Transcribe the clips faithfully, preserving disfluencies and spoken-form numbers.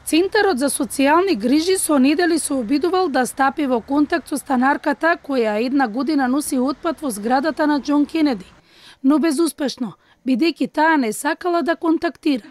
Центарот за социјални грижи со недели се обидувал да стапи во контакт со станарката која една година носи отпад во зградата на Џон Кенеди, но безуспешно, бидејќи таа не сакала да контактира.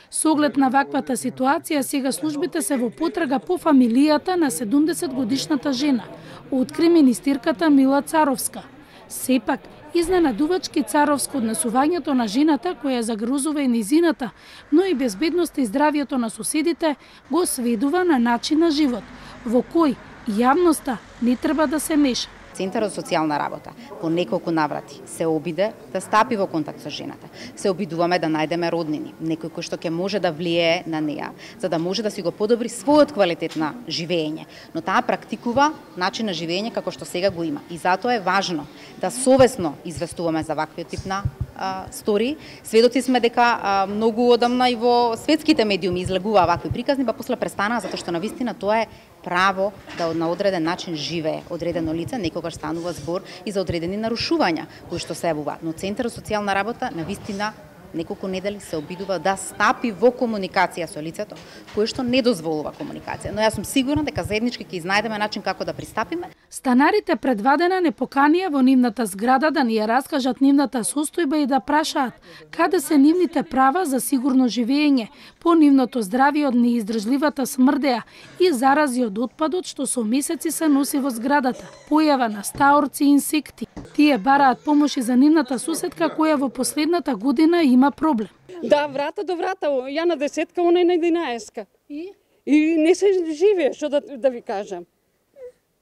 Со оглед на ваквата ситуација, сега службите се во потрага по фамилијата на седумдесет годишната жена, откри министерката Мила Царовска. Сепак, изненадувачки царовско однесувањето на жената која загрозува и низината, но и безбедноста и здравието на соседите го сведува на начин на живот, во кој јавноста не треба да се меша. Центарот за социјална работа по неколку наврати се обиде да стапи во контакт со жената. Се обидуваме да најдеме роднини, некој кој што ќе може да влијае на неа, за да може да си го подобри својот квалитет на живење. Но таа практикува начин на живење како што сега го има. И затоа е важно да совесно известуваме за ваквиот тип на а, стори. Сведоци сме дека а, многу одамна и во светските медиуми излегуваа вакви приказни, па после престанаа затоа што навистина тоа е право да на одреден начин живее одредено лице, некогаш станува збор и за одредени нарушувања кои што се јавуваат. Но Центарот за социјална работа навистина неколку недели се обидува да стапи во комуникација со лицето кое што не дозволува комуникација. Но јас сум сигурна дека заеднички ќе изнајдеме начин како да пристапиме. Станарите предвадена не поканија во нивната зграда да ни ја раскажат нивната состојба и да прашаат каде се нивните права за сигурно живење, по нивното здравје од неиздржливата смрдеа и зарази од отпадот што со месеци се носи во зградата, појава на стаорци и инсекти. Тие бараат помош и за нивната соседка која во последната година има проблем. Да, врата до врата, ја на десетка, она на единаесетка. И? И не се живее, што да, да ви кажам.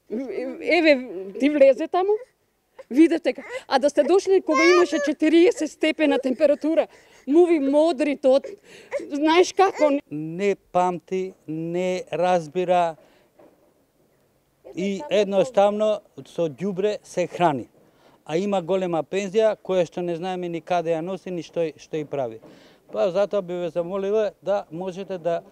Еве, ти влезе таму, видете, а да сте дошли кога имаше четириесет степена температура, муви модри тот, знаеш како? Не памти, не разбира и едноставно со ѓубре се храни. А има голема пензија која што не знаеме ни каде ја носи, ни што, што и прави. Па затоа би ве замолила да можете да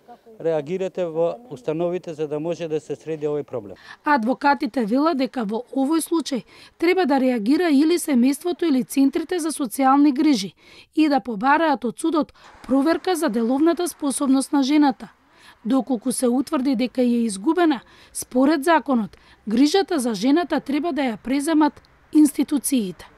реагирате во установите за да може да се среди овој проблем. Адвокатите велат дека во овој случај треба да реагира или семејството или центрите за социјални грижи и да побараат од судот проверка за деловната способност на жената. Доколку се утврди дека е изгубена, според законот, грижата за жената треба да ја преземат институциите.